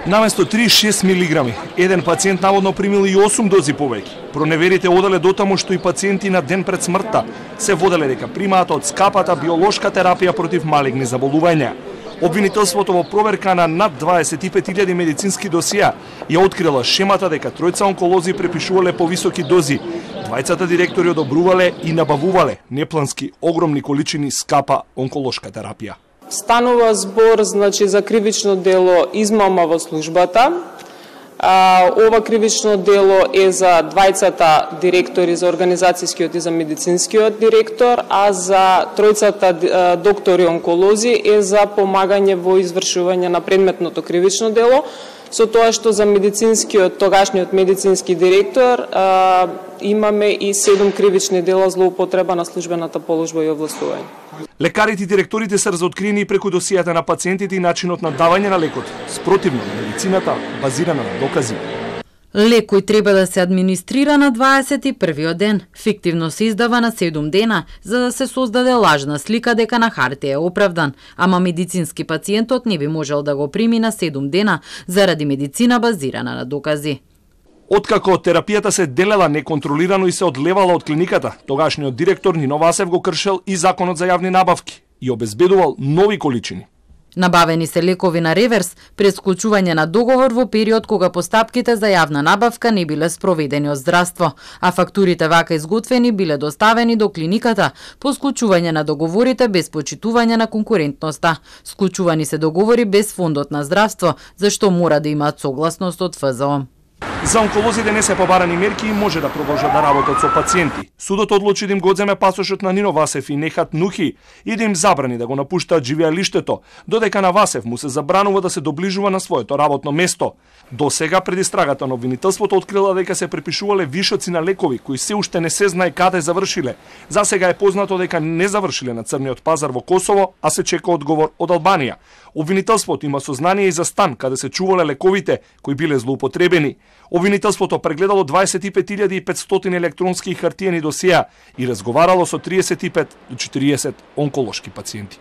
Наместо 36 милиграми, еден пациент наводно примил и 8 дози повеќе. Проневерите оделе дотаму што и пациенти на ден пред смртта се воделе дека примаат од скапата биолошка терапија против малигни заболувања. Обвинителството во проверка на над 25.000 медицински досија ја открила шемата дека тројца онколози препишувале повисоки дози. Двајцата директори одобрувале и набавувале неплански огромни количини скапа онколошка терапија. Станува збор за кривично дело измама во службата. Ова кривично дело е за двајцата директори, за организацијскиот и за медицинскиот директор, а за тројцата доктори онколози е за помагање во извршување на предметното кривично дело, со тоа што за медицинскиот, тогашниот медицински директор имаме и 7 кривични дела злоупотреба на службената положба и овластување. Лекарите и директорите се разоткриени преку досијата на пациентите и начинот на давање на лекот, спротивно на медицината базирана на докази. Лекој треба да се администрира на 21-виот ден, фиктивно се издава на 7 дена, за да се создаде лажна слика дека на хартија е оправдан, ама медицински пациентот не би можел да го прими на 7 дена заради медицина базирана на докази. Откако терапијата се делела неконтролирано и се одлевала од клиниката, тогашниот директор Нино Васев го кршел и законот за јавни набавки и обезбедувал нови количини. Набавени се лекови на реверс пред склучување на договор во период кога постапките за јавна набавка не биле спроведени од здравство, а фактурите вака изготвени биле доставени до клиниката по склучување на договорите без почитување на конкурентноста. Склучувани се договори без фондот на здравство, зашто мора да имаат согласност од ФЗО. За онколозите не се побарани мерки и може да продолжат да работат со пациенти. Судот одлучи да им го земе пасошот на Нино Васев и Нехат Нухи и да им забрани да го напуштаат живеалиштето, додека на Васев му се забранува да се доближува на своето работно место. До сега пред истрагата на обвинителството открила дека се препишувале вишоци на лекови кои се уште не се знае каде завршиле. За сега е познато дека не завршиле на црниот пазар во Косово, а се чека одговор од Албанија. Обвинителството има сознание и за стан каде се чувале лековите кои биле злоупотребени. Обвинителството прегледало 25.500 електронски и хартиени досија и разговарало со 35 до 40 онколошки пациенти.